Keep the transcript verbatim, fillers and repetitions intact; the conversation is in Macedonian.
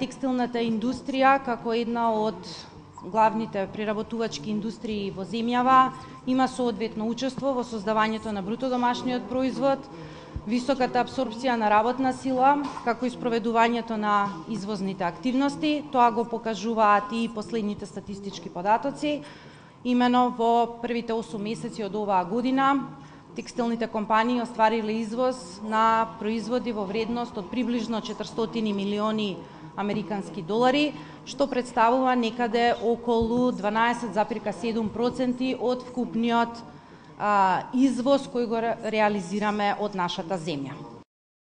Текстилната индустрија, како една од главните преработувачки индустрии во земјава, има соодветно учество во создавањето на бруто домашниот производ, високата апсорбција на работна сила, како и спроведувањето на извозните активности. Тоа го покажуваат и последните статистички податоци. Имено во првите осум месеци од оваа година, текстилните компании оствариле извоз на производи во вредност од приближно четиристотини милиони американски долари, што представува некаде околу дванаесет зарез седум проценти од вкупниот а, извоз кој го реализираме од нашата земја.